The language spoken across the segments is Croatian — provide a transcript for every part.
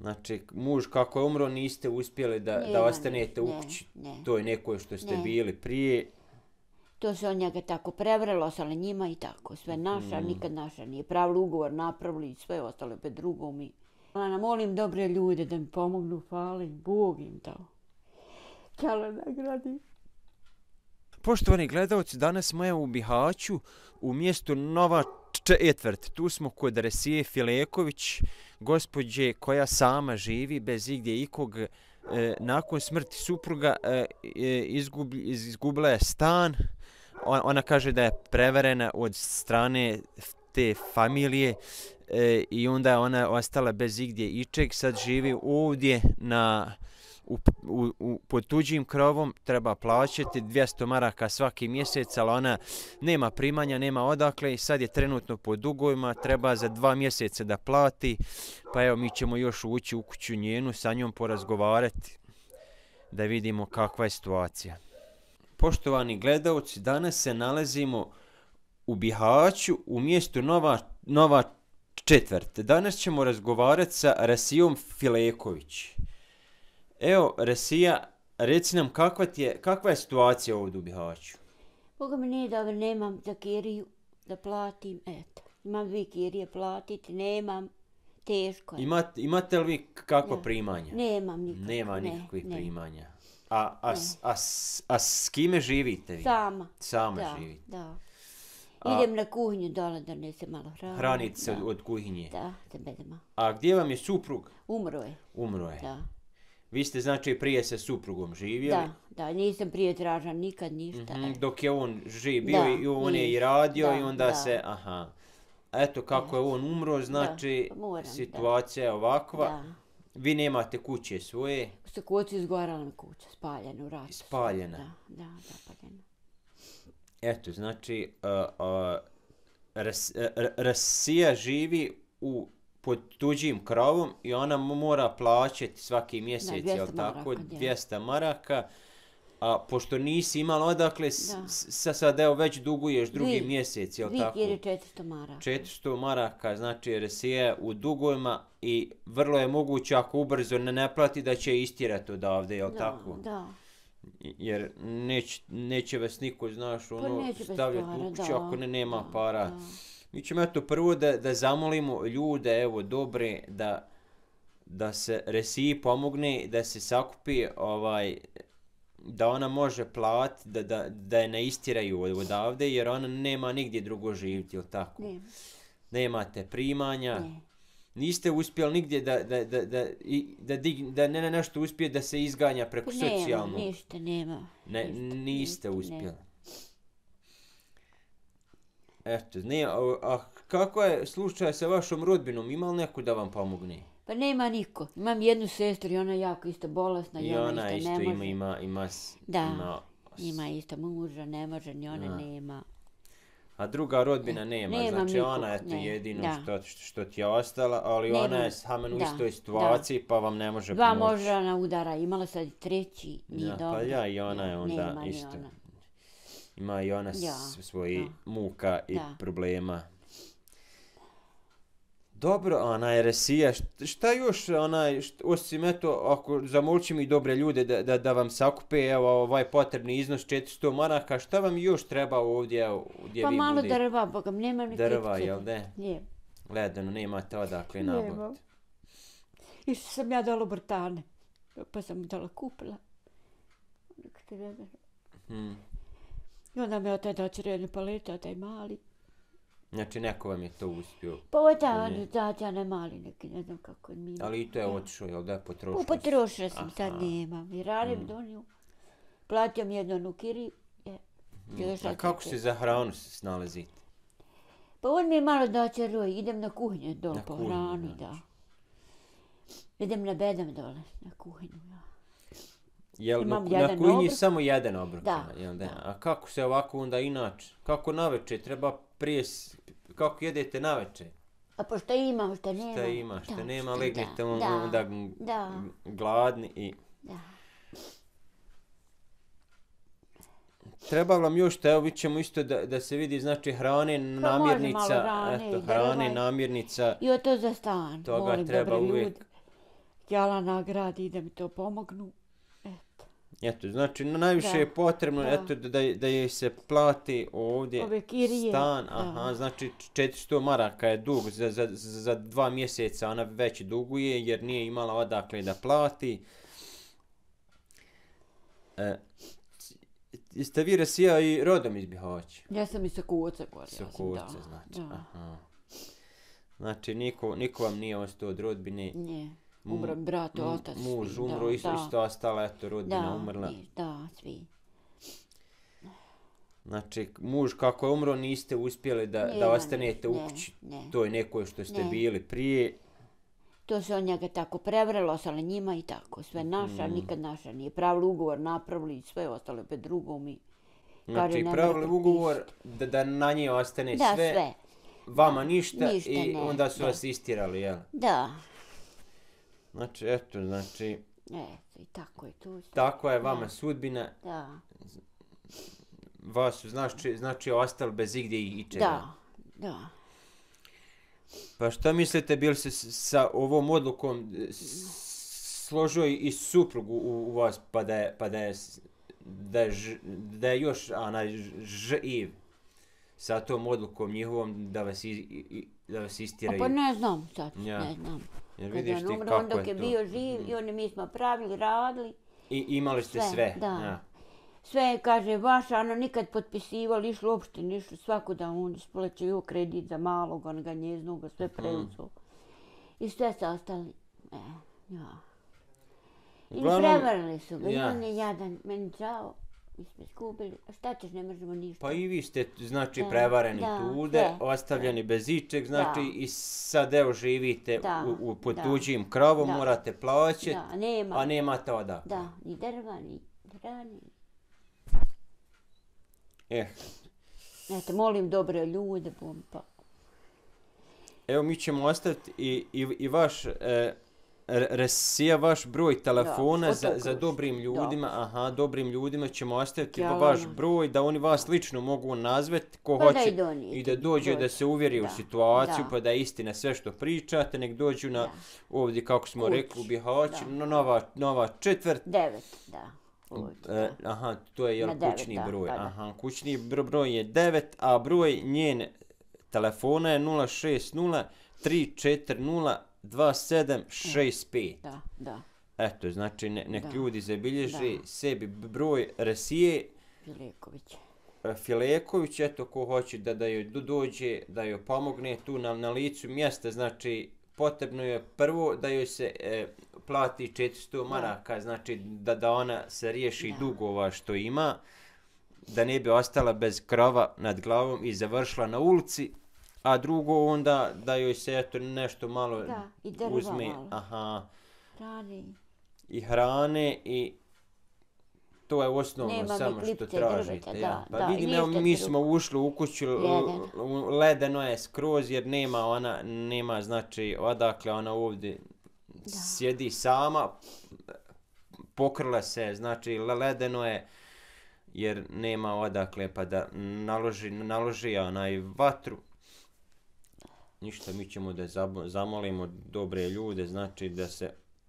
Znači, muž kako je umro, niste uspjeli da ostanete u kući toj nekoj što ste bili prije. To se on njega tako prevrelo, ostale njima i tako. Sve naša, nikad naša nije pravili ugovor, napravili i sve ostalo bez drugom. Ja molim dobre ljude da mi pomognu, hvala im, Bog im dao. Ćala nagradi. Poštovani gledalci, danas smo u Bihaću u mjestu Nova Četvrt. Tu smo kod Resije Fileković, gospođe koja sama živi bez igdje ikog. Nakon smrti supruga izgubila je stan. Ona kaže da je prevarena od strane te familije i onda je ona ostala bez igdje ičeg. Sad živi ovdje pod tuđim krovom, treba plaćati 200 maraka svaki mjesec, ali ona nema primanja, nema odakle i sad je trenutno pod dugovima, treba za 2 mjeseca da plati, pa evo mi ćemo još ući u kuću njenu, sa njom porazgovarati, da vidimo kakva je situacija. Poštovani gledalci, danas se nalazimo u Bihaću u mjestu Nova Četvrt. Danas ćemo razgovarati sa Resijom Fileković. Evo, Resija, reci nam kakva je situacija ovdje u Bihaću? Boga mi nije dobro, nemam za kiriju da platim, eto. Imam 2 kirije platiti, nemam, teško je. Imate li vi kakva primanja? Nemam nikakva. Nema nikakvih primanja. A s kime živite vi? Sama živite? Da. Idem na kuhinju dole da nese malo hrane. Hranite se od kuhinje? Da, za bedema. A gdje vam je suprug? Umro je. Umro je? Da. Vi ste znači prije sa suprugom živjeli? Da, nisam prije tražila nikad ništa. Dok je on živ bio i on je i radio i onda se, eto kako je on umro, znači situacija je ovakva. Vi nemate kuće svoje? Sa kuću izgorala mi kuća, spaljena u ratu. Spaljena? Da, paljena. Eto, znači, Resija živi pod tuđim krovom i ona mora plaćati svaki mjesec, jel tako, 200 maraka, a pošto nisi imala odakle, sad evo već duguješ drugi mjesec, jel tako? 400 maraka. 400 maraka, znači Resija je u dugovima i vrlo je moguće ako ubrzo ne plati da će istjerati odavde, jel tako? Da. Jer neće vas niko, znaš, stavljati u kuću ako nema para. Mi ćemo eto prvo da zamolimo ljude, evo, dobre, da se Resiji pomogne, da se sakupi, da ona može platiti, da je ne istjeraju odavde, jer ona nema nigdje drugo živjeti, jel tako? Nemate primanja, niste uspjeli nigdje da nešto uspije da se izganja preko socijalnog. Nema, ništa nema. Niste uspjeli. Eto, a kako je slučaj sa vašom rodbinom? Ima li neko da vam pomogne? Pa nema niko. Imam jednu sestru i ona je jako isto bolesna i ona isto ne može. Ima isto muža, ne može, ni ona nema. A druga rodbina nema, znači ona je to jedino što ti je ostala, ali ona je samen u istoj situaciji pa vam ne može pomoći. 2 moždana udara, imala sad 3, nije dobro. Pa i ona je onda isto. Ima i ona svoji muka i problema. Dobro, ona je Resija, šta još, osim eto, ako zamolčim i dobre ljude da vam sakupe, evo, ovaj potrebni iznos 400 maraka, šta vam još treba ovdje, gdje vi budete? Pa malo drva, bogam, nema ni drva, jel ne? Nije. Ledano, nemate odakle nabaviti. Nema. Išla sam ja dole u Brtane, pa sam dole kupila. I onda me otaj doći redne palete, otaj mali. Znači, neko vam je to uspio? Pa da, ne mali neki, ne znam kako mi ima. Ali i to je otišao, jel da, potrošila? Potrošila sam, sad nemam. I radim doniju. Platio mi jednu kiriju. A kako se za hranu snalazite? Pa on mi je malo daće roj, idem na kuhinju dole po hranu, da. Idem na bedam dole, na kuhinju, ja. Jel na kuhinji samo jedan obrok? Da. A kako se ovako onda inače? Kako naveče? Treba prije... Kako jedete naveče? A pa šta imam, šta nema? Šta ima, šta nema, legnete onda gladni i... Da. Treba vam još, evo vi ćemo isto da se vidi, znači hrane, namirnica, I o to za stan, toga treba uvijek. htjela nagradi da mi to pomognu. Eto. Eto, znači najviše je potrebno eto, da joj se plati ovdje ove kirije, stan, aha, znači 400 maraka je dug, za 2 mjeseca ona već duguje jer nije imala odakle da plati. Jeste vi Rasija i rodom iz Bihaća? Ja sam i sa Kuca gore. Sa Kuca, znači, aha. Znači, niko vam nije ostao od rodbine? Nije. Umro brat, otac. Muž umro, isto ostala, eto, rodbina umrla. Da, svi. Znači, muž kako je umro, niste uspjeli da ostanete u kući toj nekoj što ste bili prije. To se on njega tako prevrelo, ostale njima i tako. Sve naša, nikad naša nije. Pravili ugovor, napravili sve, ostale opet drugom i... Znači, pravili ugovor da na nje ostane sve, vama ništa i onda su vas istirali, jel? Da. Znači, eto, znači... Eto, i tako je tu. Tako je vama sudbina. Da. Vas su, znači, ostali bez igdje i čega. Da. Pa šta mislite, bil se sa ovom odlukom složio i suprug u vas, da je još živ sa tom odlukom njihovom da vas istiraju? Pa ne znam sad, ne znam. Jer vidiš ti kako je to. On dok je bio živ i oni mi smo pravili, radili. I imali ste sve? Da. Sve, kaže, vaša, ono nikad potpisivali, išlo uopšte, nišlo svako da on isplaćaju kredit za malog, onoga njeznoga, sve preuzeo. I sve se ostali, I prevarili su ga, i on je jadan, meni čao, mi smo izgubili, a šta ćeš, ne možemo ništa. Pa i vi ste, znači, prevareni tude, ostavljeni bez ičeg, znači, i sad evo živite pod tuđim krovom, morate plaćati, a nemate odakle. Da, ni drva, ni hrani. Eto, molim dobre ljude, pa. Evo, mi ćemo ostaviti i vaš, Rasija, vaš broj telefona za dobrim ljudima. Dobrim ljudima ćemo ostaviti vaš broj, da oni vas lično mogu nazvati, ko hoće i da dođe da se uvjeri u situaciju, pa da je istina sve što pričate, nek dođu na ovdje, kako smo rekli, u Bihaću, nova četvrt. 9, da. Aha, to je kućni broj. Aha, kućni broj je 9, a broj njen telefona je 060 340 2765. Da. Eto, znači nek ljudi zabilježi sebi broj Rasije Fileković, eto ko hoće da joj dođe, da joj pomogne tu na licu mjesta, znači potrebno je prvo da joj se plati 400 maraka, znači da ona se riješi dugova što ima, da ne bi ostala bez krova nad glavom i završila na ulici, a drugo onda da joj se eto nešto malo uzme, i hrane i to je osnovno samo što tražite. Pa vidim, evo mi smo ušli u kuću, ledeno je skroz jer nema znači odakle ona ovdje sjedi sama, pokrila se, znači ledeno je jer nema odakle pa da naloži vatru. Ništa, mi ćemo da zamolimo dobre ljude, znači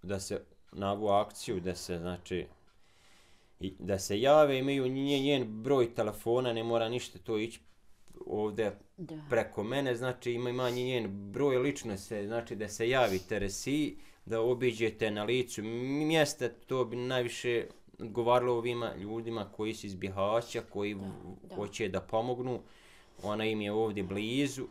da se na ovu akciju, da se jave, imaju njen broj telefona, ne mora ništa to ići ovdje preko mene, znači ima njen broj lično se, znači da se javite Rasiji, da obiđete na licu mjesta, to bi najviše odgovaralo ovima ljudima koji su iz Bihaća, koji hoće da pomognu, ona im je ovdje blizu.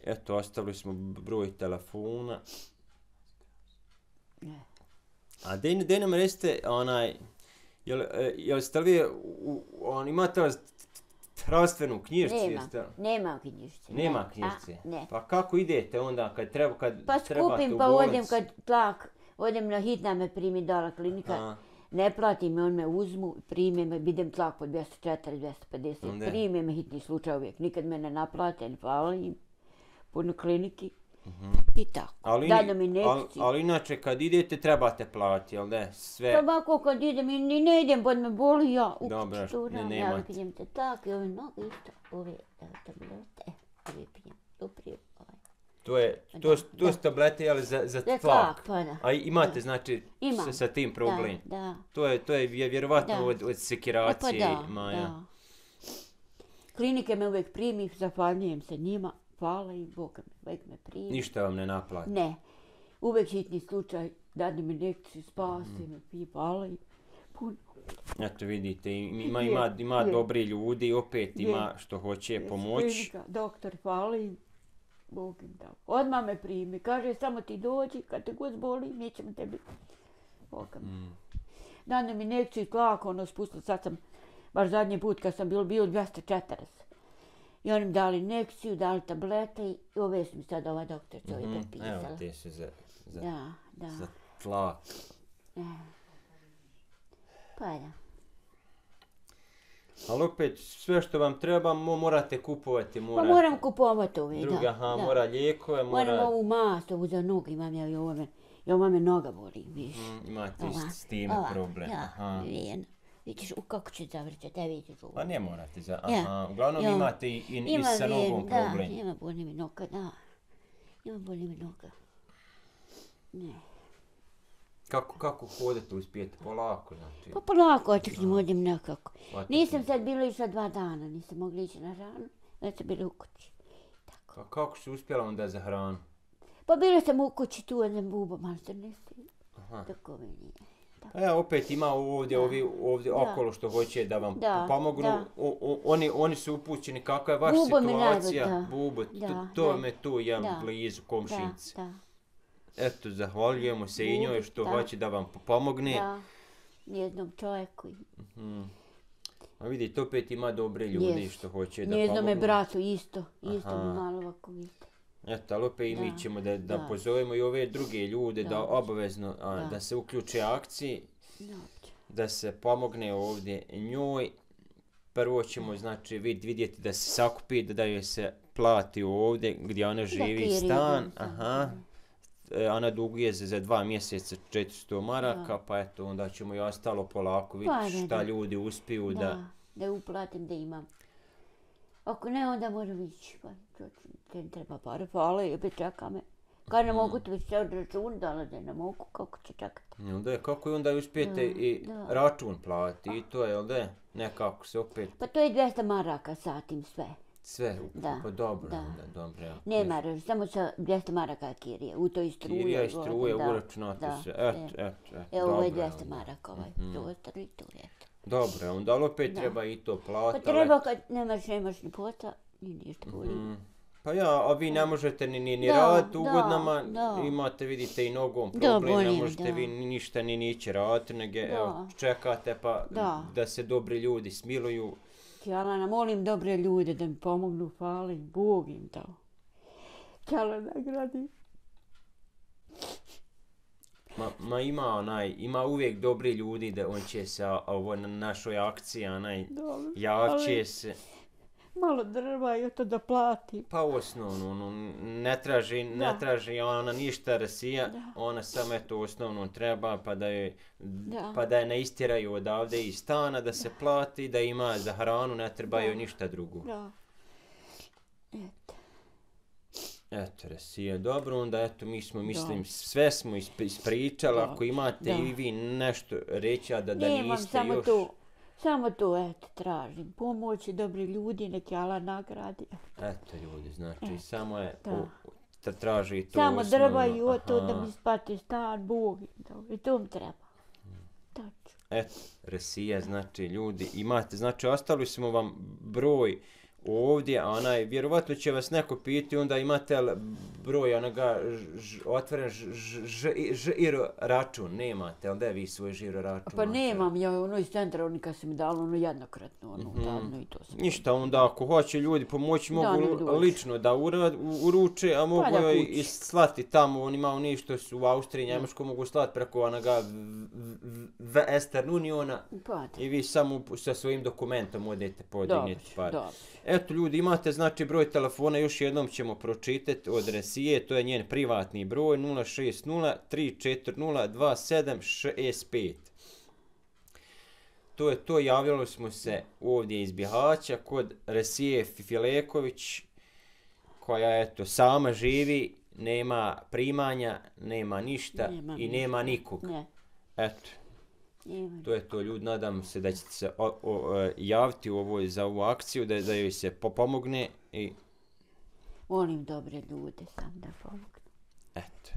Eto, ostavili smo broj telefona. A da nam recite, jel ste li imate zdravstvenu knjižicu? Nema knjižice. Nema knjižice? Pa kako idete onda kad trebate u bolnicu? Pa skupim, pa odem kad tlak, odem na hitna me primi dala klinika, ne plati me, on me uzmu, prime me, idem tlak po 240, 250, prime me hitni slučaj uvijek, nikad me ne naplate, ne hvala im, puno kliniki. I tako. Ali inače kad idete trebate platiti, jel ne? Sve. Pa ovako kad idem i ne idem, bod me boli ja. Dobro, nemate. Ja pijem te tako i ove noge isto. Ove tablete, ove pijem. Doprije. To su tablete, ali za Za tlak. pa da. A imate, znači, Imam. sa tim problem. Da. To je vjerovatno od sekiracije. Pa Maja. da. Klinike me uvijek primi, zahvaljujem se njima. Hvala i Bog uvijek me primi. Ništa vam ne naplati. Ne. Uvijek hitni slučaj, dadne mi injekciju, spasi me, hvala i puno. Eto vidite, ima dobri ljudi, opet ima što hoće pomoći. Doktor, hvala im. Bog im dao. Odmah me primi. Kaže, samo ti dođi, kad te god boli, mi ćemo tebi. Boga mi. Dane mi injekciju tlak, spustila. Sad sam, baš zadnji put kad sam bio 240. I oni mi dali injekciju, dali tablete i ove su mi sad ova doktorica ovdje prepisala. Evo, te su za tlak. Pa da. Ali opet, sve što vam treba, morate kupovati. Pa moram kupovati ove, da. Mora lijekove, Moram ovu mast, ovu za nogu imam ja i ovo me noga boli, viš. Imate s tim problem. Vidiš, kako će zavrćati, vidiš ovo. Pa ne morate uglavnom imate i sa nogom problem. Da, ima boli mi noga, da. Ima boli mi noga. Ne. Kako hodete, uspijete? Polako, znači? Pa polako očeknim, odim nekako. Nisam sad bila išla 2 dana, nisam mogla ići na hranu, već sam bila u kući. Pa kako si uspjela onda za hranu? Pa bila sam u kući tu, jedan bubo, malo se ne sviđa. Tako mi nije. Pa opet ima ovdje okolo što hoće da vam pomognu. Oni su upućeni kakva je vaša situacija. Bubo, to me tu blizu komšinice. Eto, zahvaljujemo se i njoj što hoće da vam pomogne. Da, jednom čovjeku. A vidite, opet ima dobre ljudi što hoće da pomognu. Njeznome bratu isto mi malo ovako vidite. Eto, ali opet i mi ćemo da pozovemo i ove druge ljude da obavezno da se uključe akciji, da se pomogne ovdje njoj. Prvo ćemo znači vidjeti da se sakupi, da joj se plati ovdje gdje ona živi stan. Ona duguje za 2 mjeseca 400 maraka, pa eto, onda ćemo i ostalo polako vidjeti šta ljudi uspiju da uplatim, da imam. Ako ne, onda moram ići, pa te treba pare, hvala i opet čeka me. Kad ne mogu to već od račun, da ne mogu, kako će čekati. Kako onda uspijete i račun plati i to je, jel da je? Nekako se opet... Pa to je 200 maraka satim sve. Sve, pa dobro. Nema, samo sa 200 maraka kirije, u toj struje. Kirija i struje, uračunate se, evo ovo je 200 maraka, prostor i tu, eto. Dobro, onda opet treba i to platiti. Pa treba kad nemaš ni posla, ni ništa boli. Pa a vi ne možete ni raditi u godinama, imate, vidite, i nogom problem, ne možete vi ništa ni ići raditi, nego čekate pa da se dobri ljudi smiluju. Ćala, molim dobre ljude da mi pomognu, hvala im, Bog im dao. Ćala, nagradi. Ima uvijek dobri ljudi da on će se na našoj akciji, javće se. Malo drva i to da plati. Pa osnovno, ne traži ona ništa Rasija, ona samo eto osnovno treba pa da je ne istiraju odavde iz stana, da se plati, da ima za hranu, ne trebaju ništa drugo. Eto Rasija, dobro, onda eto mi smo, mislim, sve smo ispričali, ako imate i vi nešto reći, da niste još... Samo to, eto, tražim pomoć i dobri ljudi, nek Jala nagradi. Eto ljudi, znači, samo je traži to samo osnovno. drva i to da mi spati stan, Bog i to mi treba. Eto, Rasija, znači, ljudi, imate, znači, ostali smo vam broj ovdje, vjerovatno će vas neko pitati, onda imate broj onoga otvoren žiro račun, nemate, ali da je vi svoj žiro račun? Pa nemam, ja iz centra, oni kad su mi dali jednokratno, davno i to sam. Ništa, onda ako hoće ljudi pomoći, mogu lično da uruče, a mogu i slati tamo, oni malo ništa su u Austriji, Njemačko mogu slati preko onoga Western Uniona i vi samo sa svojim dokumentom odete podigniti par. Eto ljudi, imate znači broj telefona, još jednom ćemo pročitati od Rasije, to je njen privatni broj 060 340 2765. To je to, javljali smo se ovdje iz Bihaća kod Rasije Fileković koja eto sama živi, nema primanja, nema ništa Nema i ništa. nema nikog. Ne. Eto, Ima. to je to, ljudi, nadam se da ćete se javiti za ovu akciju, da joj se pomogne i Molim dobre ljude sam da pomognu. eto.